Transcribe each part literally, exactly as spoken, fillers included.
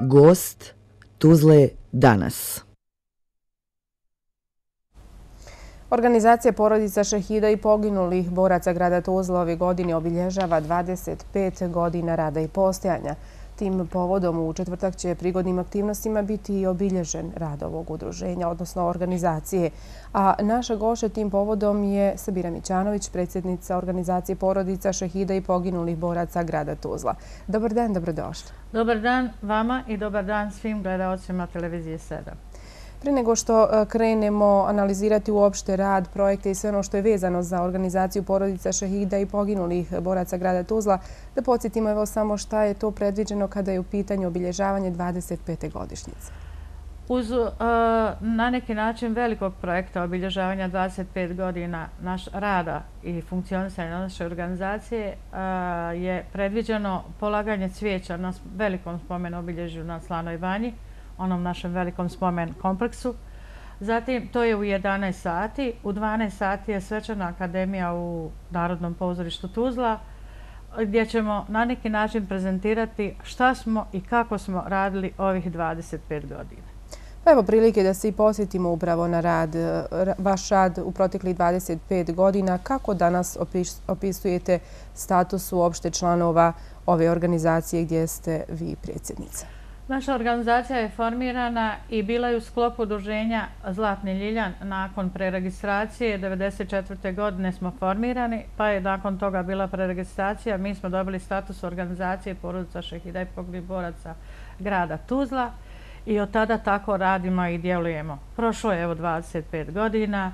Gost Tuzle danas. Organizacija Porodica šehida i poginulih boraca grada Tuzla ove godine obilježava dvadeset pet godina rada i postojanja. Tim povodom u četvrtak će prigodnim aktivnostima biti i obilježen rad ovog udruženja, odnosno organizacije. A naša gošća tim povodom je Sabira Mićanović, predsjednica Organizacije Porodica šehida i poginulih boraca grada Tuzla. Dobar dan, dobrodošli. Dobar dan vama i dobar dan svim gledaocima televizije sedam. Prije nego što krenemo analizirati uopšte rad, projekte i sve ono što je vezano za organizaciju Porodica šehida i poginulih boraca grada Tuzla, da podsjetimo evo samo šta je to predviđeno kada je u pitanju obilježavanje dvadeset pete godišnjice. Uz na neki način velikog projekta obilježavanja dvadeset pet godina naš rada i funkcionisanja naše organizacije je predviđeno polaganje cvijeća na velikom spomen obilježju na Slanoj banji, onom našem velikom spomen kompleksu. Zatim, to je u jedanaest sati. U dvanaest sati je svečana akademija u Narodnom pozorištu Tuzla, gdje ćemo na neki način prezentirati šta smo i kako smo radili ovih dvadeset pet godina. Pa evo prilike da se i posjetimo upravo na rad, vaš rad u proteklih dvadeset pet godina. Kako danas opisujete status uopšte članova ove organizacije gdje ste vi predsjednica? Naša organizacija je formirana i bila je u sklopu udruženja Zlatni ljiljan. Nakon preregistracije devedeset četvrte godine smo formirani, pa je nakon toga bila preregistracija. Mi smo dobili status organizacije Porodica šehida i poginulih boraca grada Tuzla i od tada tako radimo i djelujemo. Prošlo je evo dvadeset pet godina,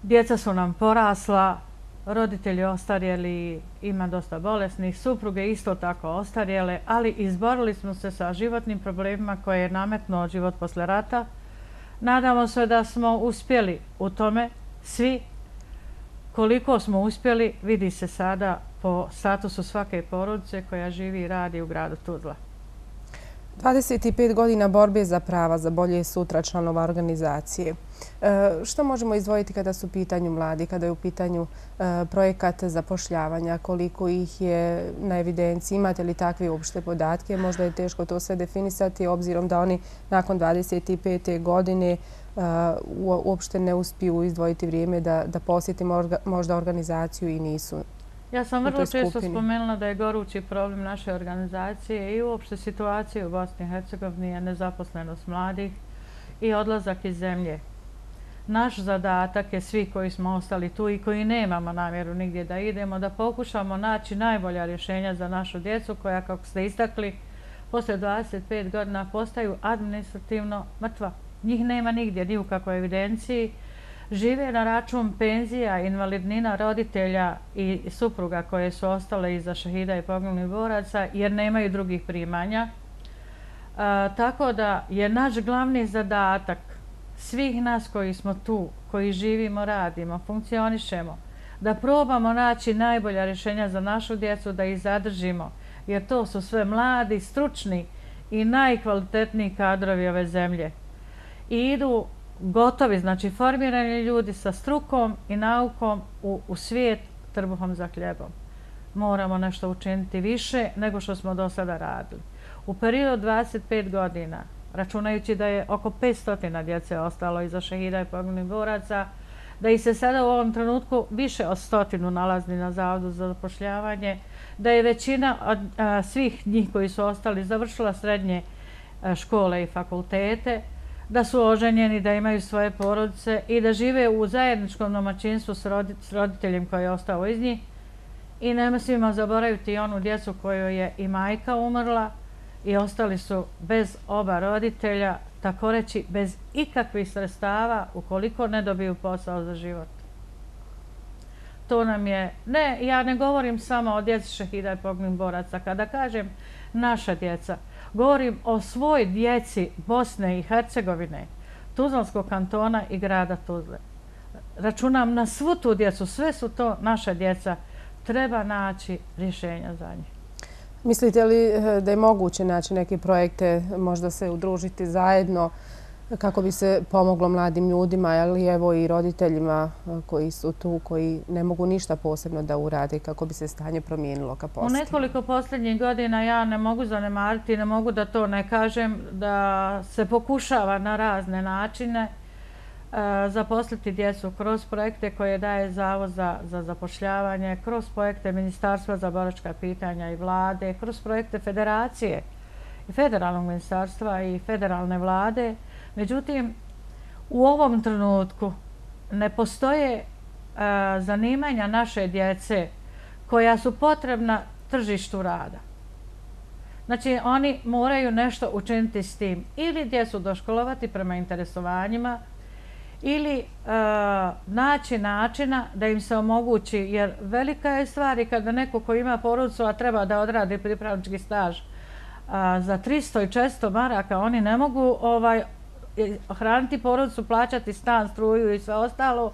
djeca su nam porasla, roditelji ostarjeli, ima dosta bolesnih, supruge isto tako ostarjele, ali izborili smo se sa životnim problemima koje je nametnuo život posle rata. Nadamo se da smo uspjeli u tome svi. Koliko smo uspjeli vidi se sada po statusu svake porodice koja živi i radi u gradu Tuzla. dvadeset pet godina borbe za prava, za bolje sutra članova organizacije. Što možemo izdvojiti kada su u pitanju mladi, kada je u pitanju projekat zapošljavanja, koliko ih je na evidenciji, imate li takve uopšte podatke? Možda je teško to sve definisati, obzirom da oni nakon dvadeset pete godine uopšte ne uspiju izdvojiti vrijeme da posjetimo možda organizaciju i nisu. Ja sam vrlo često spomenula da je gorući problem naše organizacije i uopšte situacije u Bosni i Hercegovini je nezaposlenost mladih i odlazak iz zemlje. Naš zadatak je svi koji smo ostali tu i koji nemamo namjeru nigdje da idemo, da pokušamo naći najbolja rješenja za našu djecu koja, kako ste istakli, posle dvadeset pet godina postaju administrativno mrtva. Njih nema nigdje, ni u kakvoj evidenciji. Žive na račun penzija, invalidnina roditelja i supruga koje su ostale iza šehida i poginulih boraca jer nemaju drugih primanja. Tako da je naš glavni zadatak svih nas koji smo tu, koji živimo, radimo, funkcionišemo, da probamo naći najbolja rješenja za našu djecu, da ih zadržimo, jer to su sve mladi, stručni i najkvalitetniji kadrovi ove zemlje. I idu gotovi, znači formirani ljudi sa strukom i naukom u, u svijet trbuhom za hljebom. Moramo nešto učiniti više nego što smo do sada radili. U periodu dvadeset pet godina, računajući da je oko petsto djece ostalo iza šehida i poginulih boraca, da ih se sada u ovom trenutku više od stotinu nalazi na Zavodu za zapošljavanje, da je većina od a, svih njih koji su ostali završila srednje a, škole i fakultete, da su oženjeni, da imaju svoje porodice i da žive u zajedničkom domaćinstvu s roditeljem koji je ostao iz njih. I nema svima zaboraviti i onu djecu kojoj je i majka umrla i ostali su bez oba roditelja, tako reći bez ikakvih sredstava ukoliko ne dobiju posao za život. To nam je, ne, ja ne govorim samo o djeci šehida i poginulih boraca. Kada kažem naša djeca, govorim o svoj djeci Bosne i Hercegovine, Tuzlanskog kantona i grada Tuzle. Računam na svu tu djecu, sve su to naša djeca. Treba naći rješenja za njih. Mislite li da je moguće naći neke projekte, možda se udružiti zajedno kako bi se pomoglo mladim ljudima, ali evo i roditeljima koji su tu, koji ne mogu ništa posebno da urade, kako bi se stanje promijenilo ka posljednje. U nekoliko posljednjih godina ja ne mogu zanemariti, ne mogu da to ne kažem, da se pokušava na razne načine zaposliti djecu kroz projekte koje daje Zavod za, za zapošljavanje, kroz projekte Ministarstva za boračka pitanja i vlade, kroz projekte Federacije i Federalnog ministarstva i federalne vlade. Međutim, u ovom trenutku ne postoje a, zanimanja naše djece koja su potrebna tržištu rada. Znači, oni moraju nešto učiniti s tim. Ili djecu doškolovati prema interesovanjima, ili e, naći načina da im se omogući, jer velika je stvar i kada neko ko ima porodicu, a treba da odradi pripravnički staž a, za tristo i četiristo maraka, oni ne mogu ovaj, hraniti porodicu, plaćati stan, struju i sve ostalo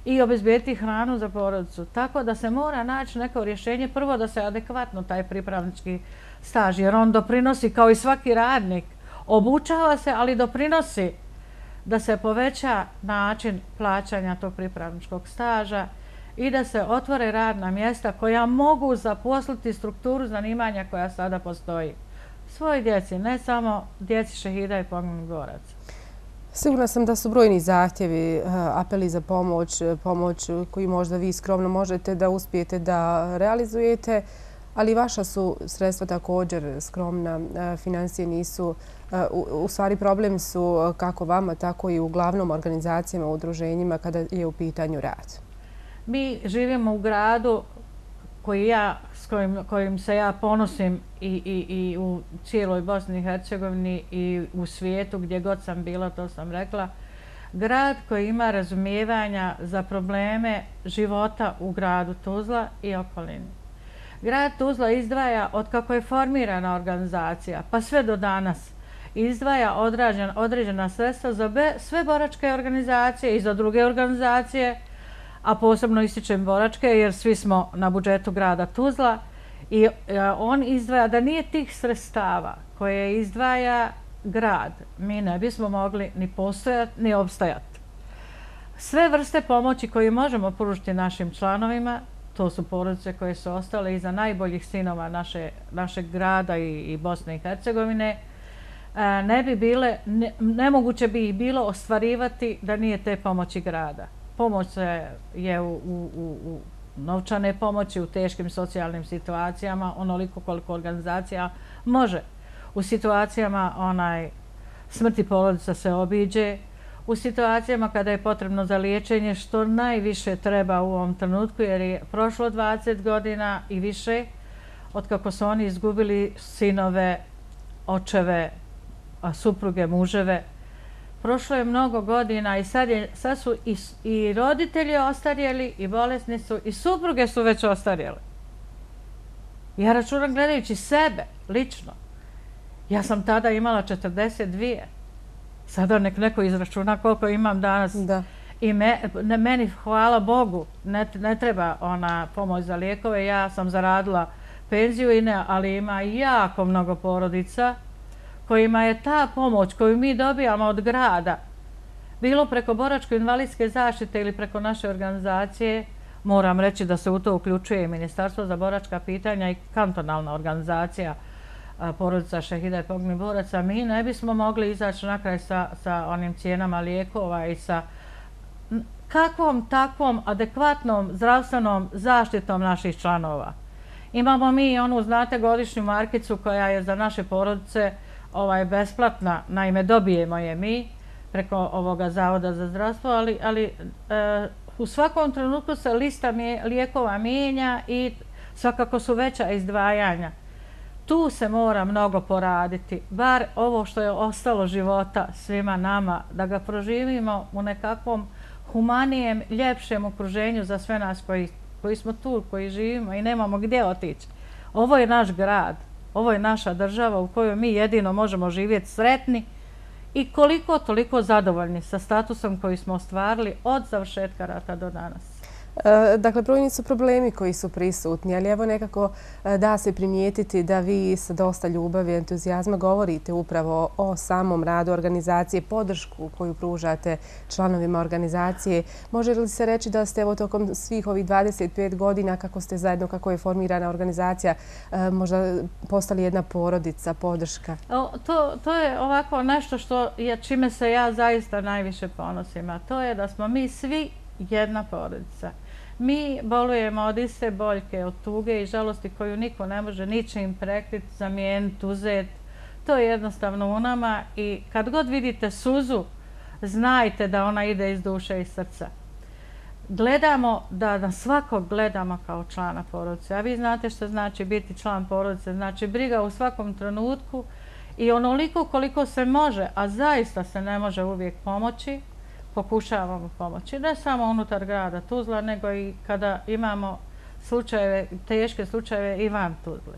i obezbijeti hranu za porodicu. Tako da se mora naći neko rješenje, prvo da se adekvatno taj pripravnički staž, jer on doprinosi kao i svaki radnik, obučava se, ali doprinosi da se poveća način plaćanja tog pripravničkog staža i da se otvore radna mjesta koja mogu zaposliti strukturu zanimanja koja sada postoji. Svoj djeci, ne samo djeci šehida i poginulih boraca. Sigurna sam da su brojni zahtjevi, apeli za pomoć, pomoć koju možda vi skromno možete da uspijete da realizujete, ali vaša su sredstva također skromna, financije nisu. U stvari problem su kako vama, tako i uglavnom organizacijama, udruženjima kada je u pitanju rad. Mi živimo u gradu koji ja, s kojim, kojim se ja ponosim i, i, i u cijeloj Bosni i Hercegovini i u svijetu gdje god sam bila, to sam rekla. Grad koji ima razumijevanja za probleme života u gradu Tuzla i okolini. Grad Tuzla izdvaja, od kako je formirana organizacija, pa sve do danas, izdvaja određena, određena sredstva za be, sve boračke organizacije i za druge organizacije, a posebno ističem boračke jer svi smo na budžetu grada Tuzla i on izdvaja, da nije tih sredstava koje izdvaja grad, mi ne bismo mogli ni postojati ni opstajati. Sve vrste pomoći koje možemo pružiti našim članovima, to su porodice koje su ostale iza najboljih sinova naše, našeg grada i, i Bosne i Hercegovine, ne bi bile, ne, nemoguće bi ih bilo ostvarivati da nije te pomoći grada. Pomoć je u, u, u novčane pomoći, u teškim socijalnim situacijama, onoliko koliko organizacija može. U situacijama onaj, smrti porodica se obiđe, u situacijama kada je potrebno za liječenje, što najviše treba u ovom trenutku, jer je prošlo dvadeset godina i više od kako su oni izgubili sinove, očeve, supruge, muževe. Prošlo je mnogo godina i sad, je, sad su i, i roditelji ostarjeli i bolesni su i supruge su već ostarjele. Ja računam gledajući sebe, lično. Ja sam tada imala četrdeset dvije. Sada nek neko izračuna koliko imam danas. Da. I me, ne, meni, hvala Bogu, ne, ne treba ona pomoć za lijekove. Ja sam zaradila penziju, i ne, ali ima jako mnogo porodica kojima je ta pomoć koju mi dobijamo od grada, bilo preko boračko-invalidske zaštite ili preko naše organizacije, moram reći da se u to uključuje i Ministarstvo za boračka pitanja i kantonalna organizacija porodica šehida i poginulih boraca, mi ne bismo mogli izaći na kraj sa, sa onim cijenama lijekova i sa kakvom takvom adekvatnom zdravstvenom zaštitom naših članova. Imamo mi onu, znate, godišnju markicu koja je za naše porodice ovaj, besplatna, naime dobijemo je mi preko ovoga Zavoda za zdravstvo, ali, ali e, u svakom trenutku se lista mje, lijekova mijenja i svakako su veća izdvajanja. Tu se mora mnogo poraditi, bar ovo što je ostalo života svima nama, da ga proživimo u nekakvom humanijem, ljepšem okruženju za sve nas koji, koji smo tu, koji živimo i nemamo gdje otići. Ovo je naš grad, ovo je naša država u kojoj mi jedino možemo živjeti sretni i koliko toliko zadovoljni sa statusom koji smo ostvarili od završetka rata do danas. Dakle, brojni su problemi koji su prisutni, ali evo nekako da se primijetiti da vi sa dosta ljubavi i entuzijazma govorite upravo o samom radu organizacije, podršku koju pružate članovima organizacije. Može li se reći da ste evo tokom svih ovih dvadeset pet godina kako ste zajedno, kako je formirana organizacija, možda postali jedna porodica, podrška? To, to je ovako nešto što je, čime se ja zaista najviše ponosim, a to je da smo mi svi jedna porodica. Mi bolujemo od iste boljke, od tuge i žalosti koju niko ne može ničim prekriti, zamijeniti, uzeti. To je jednostavno u nama i kad god vidite suzu, znajte da ona ide iz duše i srca. Gledamo, da na svakog gledamo kao člana porodice. A vi znate što znači biti član porodice. Znači briga u svakom trenutku i onoliko koliko se može, a zaista se ne može uvijek pomoći, pokušavamo pomoći. Ne samo unutar grada Tuzla, nego i kada imamo slučajeve, teške slučajeve i van Tuzle.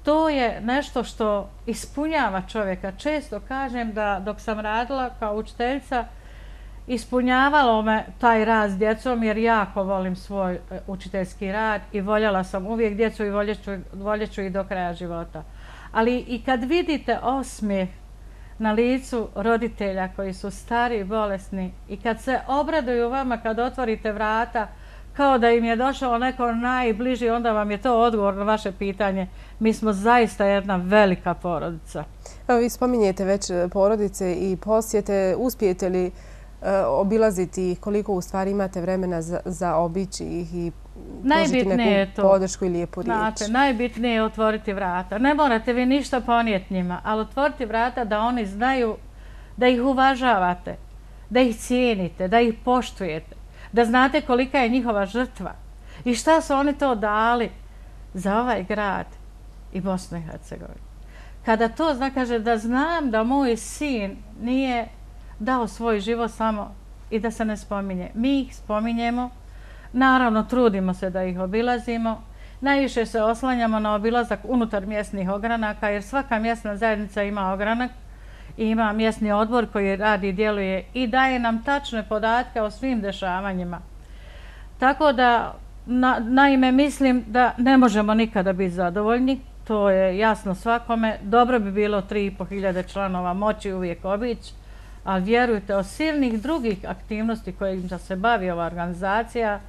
To je nešto što ispunjava čovjeka. Često kažem da dok sam radila kao učiteljica, ispunjavalo me taj rad s djecom jer jako volim svoj učiteljski rad i voljela sam uvijek djecu i voljet ću ih do kraja života. Ali i kad vidite osmijeh na licu roditelja koji su stari i bolesni i kad se obraduju vama kad otvorite vrata kao da im je došao neko najbliži, onda vam je to odgovor na vaše pitanje. Mi smo zaista jedna velika porodica. Evo, vi spominjete već porodice i posjete. Uspijete li obilaziti ih, koliko u stvari imate vremena za, za obići ih i pružiti neku podršku i lijepu riječ? Znate, najbitnije je otvoriti vrata. Ne morate vi ništa ponijeti njima, ali otvoriti vrata da oni znaju da ih uvažavate, da ih cijenite, da ih poštujete, da znate kolika je njihova žrtva i šta su oni to dali za ovaj grad i Bosnu i Hercegovinu. Kada to zna, kaže da znam da moj sin nije dao svoj život samo i da se ne spominje. Mi ih spominjemo, naravno trudimo se da ih obilazimo, najviše se oslanjamo na obilazak unutar mjesnih ogranaka jer svaka mjesna zajednica ima ogranak i ima mjesni odbor koji radi i djeluje i daje nam tačne podatke o svim dešavanjima. Tako da, na, naime, mislim da ne možemo nikada biti zadovoljni, to je jasno svakome. Dobro bi bilo tri i po hiljade članova moći uvijek obići, ali vjerujte, od silnih drugih aktivnosti kojim se bavi ova organizacija,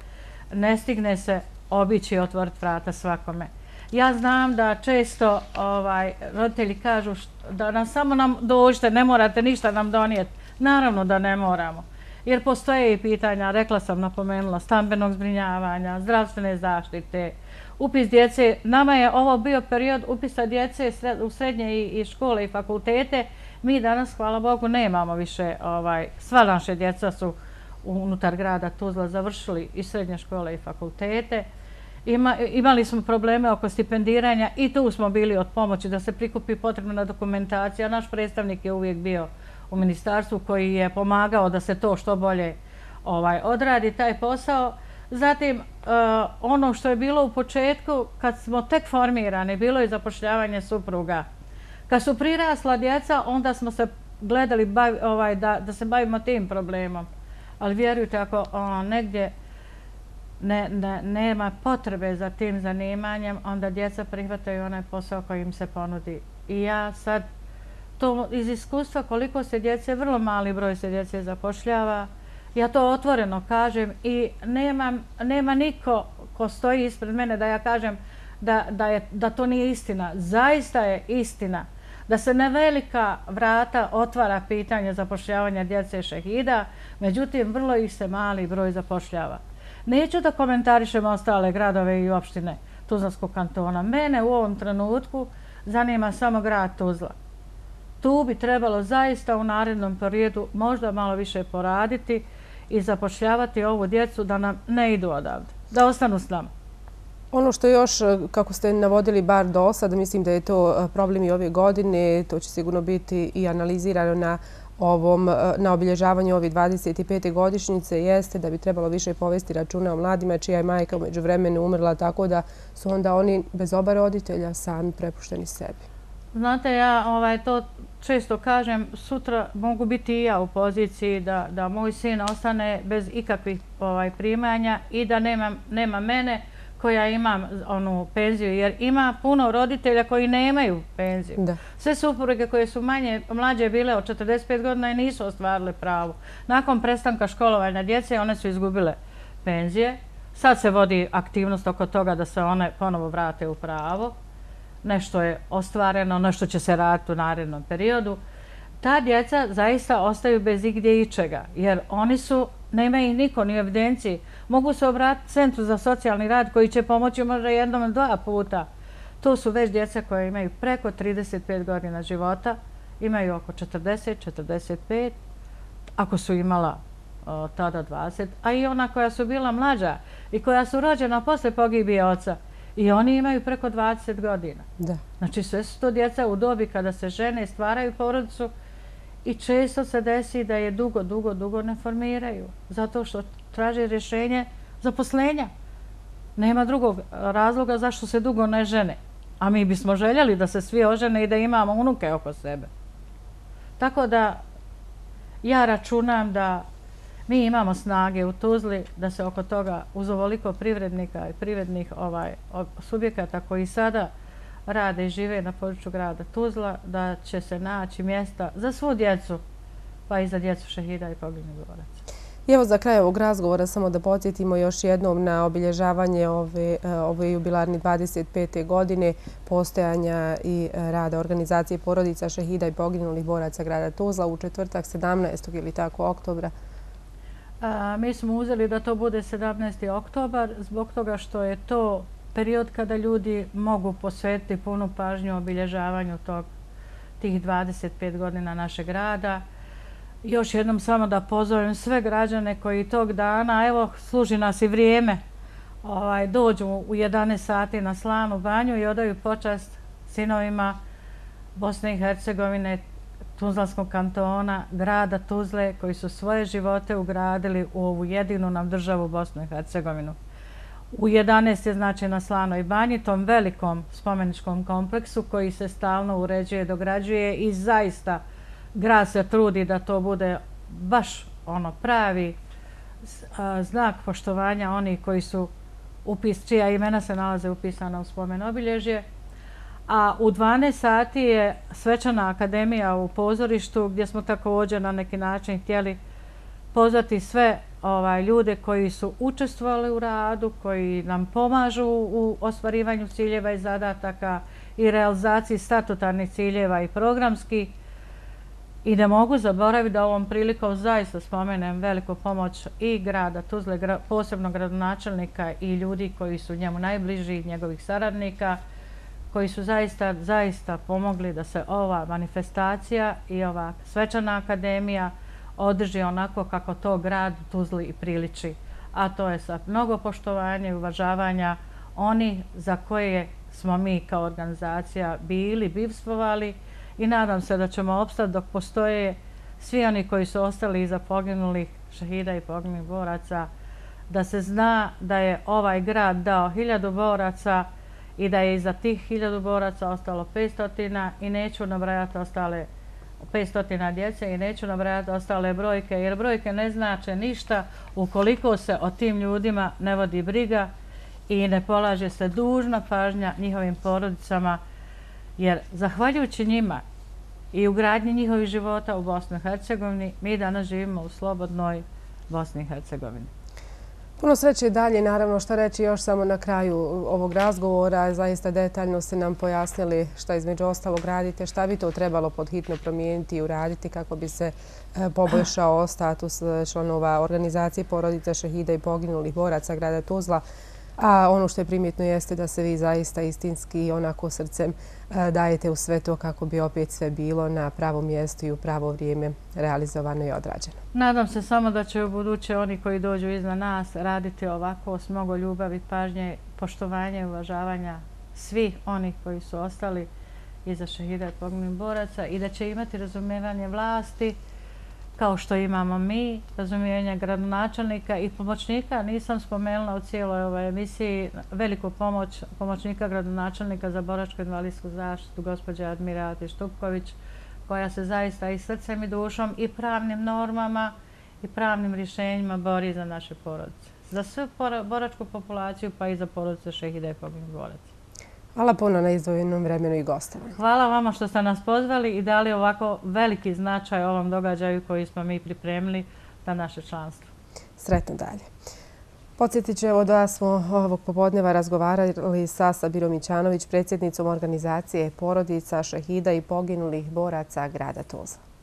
ne stigne se obići i otvoriti vrata svakome. Ja znam da često ovaj, roditelji kažu što, da nam samo nam dođete, ne morate ništa nam donijeti. Naravno da ne moramo. Jer postoje i pitanja, rekla sam, napomenula, stambenog zbrinjavanja, zdravstvene zaštite, upis djece. Nama je ovo bio period upisa djece u srednje i, i škole i fakultete. Mi danas, hvala Bogu, nemamo više, ovaj, sva naše djeca su unutar grada Tuzla završili i srednje škole i fakultete. Ima, imali smo probleme oko stipendiranja i tu smo bili od pomoći da se prikupi potrebna dokumentacija. Naš predstavnik je uvijek bio u ministarstvu koji je pomagao da se to što bolje ovaj, odradi taj posao. Zatim, uh, ono što je bilo u početku, kad smo tek formirani, bilo je zapošljavanje supruga. Kad su prirasla djeca, onda smo se gledali bavi, ovaj, da, da se bavimo tim problemom. Ali vjerujte, ako ono, negdje ne, ne, nema potrebe za tim zanimanjem, onda djeca prihvataju onaj posao koji im se ponudi. I ja sad, to iz iskustva koliko se djece, vrlo mali broj se djece zapošljava, ja to otvoreno kažem i nema, nema niko ko stoji ispred mene da ja kažem da, da, je, da to nije istina. Zaista je istina da se na velika vrata otvara pitanje zapošljavanja djece šehida, međutim vrlo ih se mali broj zapošljava. Neću da komentarišem ostale gradove i opštine Tuzlanskog kantona. Mene u ovom trenutku zanima samo grad Tuzla. Tu bi trebalo zaista u narednom periodu možda malo više poraditi i zapošljavati ovu djecu da nam ne idu odavde, da ostanu s nama. Ono što još, kako ste navodili bar do sada, mislim da je to problem i ove godine, to će sigurno biti i analizirano na ovom, na obilježavanju ove dvadeset pete godišnjice, jeste da bi trebalo više povesti računa o mladima čija je majka umeđu vremenu umrla, tako da su onda oni bez oba roditelja sami prepušteni sebi. Znate, ja ovaj, to često kažem, sutra mogu biti i ja u poziciji da, da moj sin ostane bez ikakvih ovaj, primanja i da nema, nema mene koja imam onu penziju, jer ima puno roditelja koji nemaju penziju. Da. Sve supruge koje su manje, mlađe bile od četrdeset pet godina i nisu ostvarile pravo. Nakon prestanka školovanja djece one su izgubile penzije. Sad se vodi aktivnost oko toga da se one ponovo vrate u pravo. Nešto je ostvareno, nešto će se raditi u narednom periodu. Ta djeca zaista ostaju bez igdje ičega, jer oni su, nema ih niko ni u evidenciji. Mogu se obratiti Centru za socijalni rad koji će pomoći možda jednom ili dva puta. To su već djeca koje imaju preko trideset pet godina života, imaju oko četrdeset, četrdeset pet, ako su imala o, tada dvadeset, a i ona koja su bila mlađa i koja su rođena posle pogibije oca. I oni imaju preko dvadeset godina. Da. Znači sve su to djeca u dobi kada se žene i stvaraju porodicu i često se desi da je dugo, dugo, dugo ne formiraju. Zato što traže rješenje zaposlenja. Nema drugog razloga zašto se dugo ne žene. A mi bismo željeli da se svi ožene i da imamo unuke oko sebe. Tako da ja računam da mi imamo snage u Tuzli da se oko toga uz ovoliko privrednika i privrednih ovaj, subjekata koji sada rade i žive na području grada Tuzla, da će se naći mjesta za svu djecu, pa i za djecu šehida i poginulih boraca. I evo za kraj ovog razgovora samo da podsjetimo još jednom na obilježavanje ove, ove jubilarne dvadeset pete godine postojanja i rada organizacije porodica šehida i poginulih boraca grada Tuzla u četvrtak sedamnaestog ili tako oktobra. A, mi smo uzeli da to bude sedamnaesti oktobar zbog toga što je to period kada ljudi mogu posvetiti punu pažnju obilježavanju tog, tih dvadeset pet godina našeg grada. Još jednom samo da pozovem sve građane koji tog dana, evo služi nas i vrijeme, ovaj, dođu u jedanaest sati na Slanu banju i odaju počast sinovima Bosne i Hercegovine, Tuzlanskog kantona, grada Tuzle, koji su svoje živote ugradili u ovu jedinu nam državu Bosnu i Hercegovinu. U jedanaest je znači na Slanoj banji, tom velikom spomeničkom kompleksu koji se stalno uređuje, dograđuje i zaista grad se trudi da to bude baš ono pravi znak poštovanja onih koji su upis, čija imena se nalaze upisana u spomen obilježje. A u dvanaest sati je svečana akademija u pozorištu gdje smo također na neki način htjeli pozvati sve ovaj, ljude koji su učestvovali u radu, koji nam pomažu u ostvarivanju ciljeva i zadataka i realizaciji statutarnih ciljeva i programskih. I ne mogu zaboraviti da ovom prilikom zaista spomenem veliku pomoć i grada Tuzle, posebno gradonačelnika i ljudi koji su njemu najbliži, njegovih saradnika, koji su zaista, zaista pomogli da se ova manifestacija i ova svečana akademija održi onako kako to grad Tuzli i priliči. A to je sa mnogo poštovanja i uvažavanja oni za koje smo mi kao organizacija bili, bivstvovali i nadam se da ćemo opstati dok postoje svi oni koji su ostali iza poginulih šehida i poginulih boraca, da se zna da je ovaj grad dao hiljadu boraca i da je iza tih hiljadu boraca ostalo petstotina i neću nabrajati ostale petstotina djece i neću nabrajati ostale brojke, jer brojke ne znače ništa ukoliko se o tim ljudima ne vodi briga i ne polaže se dužna pažnja njihovim porodicama, jer zahvaljujući njima i ugradnji njihovih života u Bosni i Hercegovini, mi danas živimo u slobodnoj Bosni i Hercegovini. Puno sreće dalje, naravno što reći još samo na kraju ovog razgovora. Zaista detaljno ste nam pojasnili šta između ostalog radite, šta bi to trebalo podhitno promijeniti i uraditi kako bi se poboljšao status članova organizacije porodica šehida i poginulih boraca grada Tuzla. A ono što je primjetno jeste da se vi zaista istinski i onako srcem dajete u sve to kako bi opet sve bilo na pravom mjestu i u pravo vrijeme realizovano i odrađeno. Nadam se samo da će u buduće oni koji dođu iza nas raditi ovako s mnogo ljubavi, pažnje, poštovanja i uvažavanja svih onih koji su ostali iza šehida i poginulih boraca i da će imati razumijevanje vlasti kao što imamo mi, razumijevanje gradonačelnika i pomoćnika. Nisam spomenula u cijeloj ovoj emisiji veliku pomoć pomoćnika gradonačelnika za boračko invalidsku zaštitu, gospođe Admirati Štupković, koja se zaista i srcem i dušom i pravnim normama i pravnim rješenjima bori za naše porodice. Za svu boračku populaciju pa i za porodice šehida i poginulih boraca. Hvala puno na izdvojenom vremenu i gostovanju. Hvala vama što ste nas pozvali i dali ovako veliki značaj ovom događaju koji smo mi pripremili za naše članstvo. Sretno dalje. Podsjetit ću da smo ovog popodneva razgovarali sa Sabirom Mićanović, predsjednicom organizacije porodica šehida i poginulih boraca grada Tuzla.